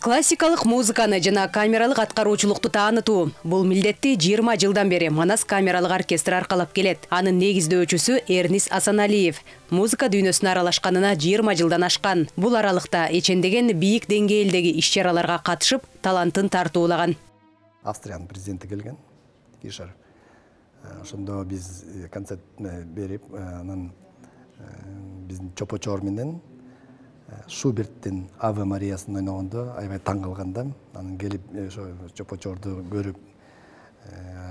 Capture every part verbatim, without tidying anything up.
Классикалык музыканы жана камералык аткаруучулукту таанытуу — бул милдетти жыйырма жылдан бери Манас камералык оркестр аркалап келет. Анын негиздөөчүсү Эрнис Асаналиев. Музыка дүйнөсүнө аралашканына жыйырма жылдан ашкан. Бул аралыкта эчендеген бийик деңгээлдеги иш-чараларга катышып, талантын тартуулаган. Австриянын президенти келген, Фишер. Ошондо биз концерт берип, анан биздин чопочоор менен Шуберттин Аве Мариясын ойногондо аябай таң калганда, анан келип ошо чопочоорду көрүп,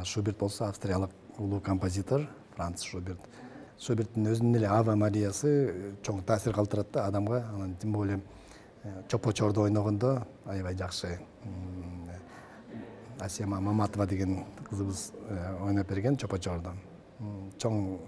Шуберт болсо австриялык улуу композитор Франц Шуберт. Шуберттин өзүнүн эле Аве Мариясы чоң таасир калтырат да адамга, анан тим более чопочоорду ойногондо аябай жакшы. Асема Маматова деген кызыбыз ойноп берген чопочоордо. Чоң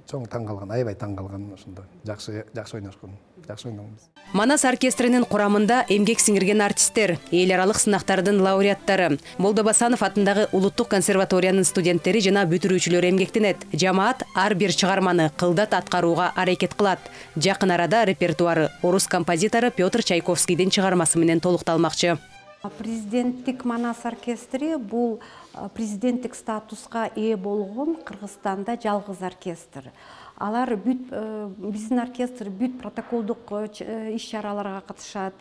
чоң таң калган, аябай таң калган ошондо. Жакшы жакшы ойношкон, жакшы ойногонбуз. Манас оркестринин курамында эмгек сиңирген артисттер, эл аралык сынактардын лауреаттары, Молдобасанов атындагы Улуттук консерваториянын студенттери жана бүтүрүүчүлөрү эмгектенет. Жамаат ар бир чыгарманы кылдат аткарууга аракет кылат. Жакын арада репертуары орус композитору Петр Чайковскийдин чыгармасы менен толукталмакчы. Президенттик Манас оркестри бул президенттик статуска ээ болгон Кыргызстанда жалгыз оркестр. Алар бүт биздин оркестр бүт протоколдук иш-чараларга катышат.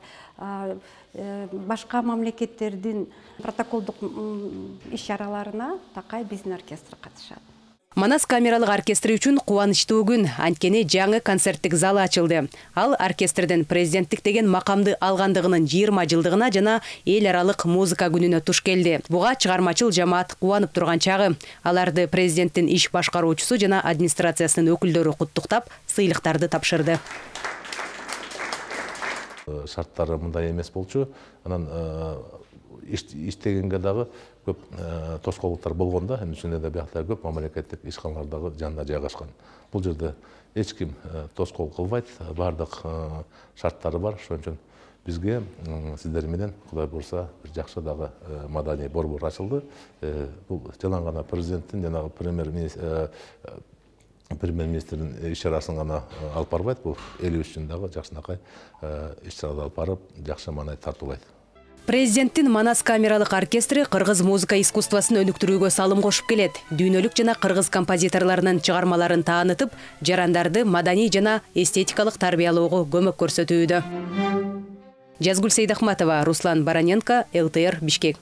Башка мамлекеттердин протоколдук иш-чараларына такай биздин оркестр катышат. Манас камералык оркестри үчүн кубанычтуу күн, анткени жаңы концерттик залы ачылды. Ал оркестрдин президенттик деген макамды алгандыгынын жыйырма жылдыгына жана эл аралык музыка күнүнө туш келди. Буга чыгармачыл жамаат кубанып турган чагы. Аларды президенттин иш башкаруучусу жана администрациясынын өкүлдөрү куттуктап, сыйлыктарды тапшырды. Шарттары мындай эмес болчу. Анан иштегенге дагы көп тоскоолдуктар болгондо, эми ушундай да биякта көп мамлекеттик ишканалар дагы жанында жайгашкан. Бул жерде эч ким тоскоол кылбайт, бардык шарттары бар. Ошон үчүн бизге сиздер менен Кудай буйрса бир жакшы дагы маданий борбор ачылды. Бул жалаң гана президенттин жанагы премьер-министр премьер-министрдин иш-чарасын гана алып барбайт, бул эл үчүн дагы жакшынакай иш-чаралар алып барып, жакшы маанай тартуулайт. Президенттин Манас камералык оркестри кыргыз музыка искусствосын өнүктүрүүгө салым кошуп келет. Дүйнөлүк жана кыргыз композиторлорунун чыгармаларын таанытып, жарандарды маданий жана эстетикалык тарбиялоого көмөк көрсөтүүдө. Жазгүл Сейдахматова, Руслан Бараненко, эл тэ эр, Бишкек.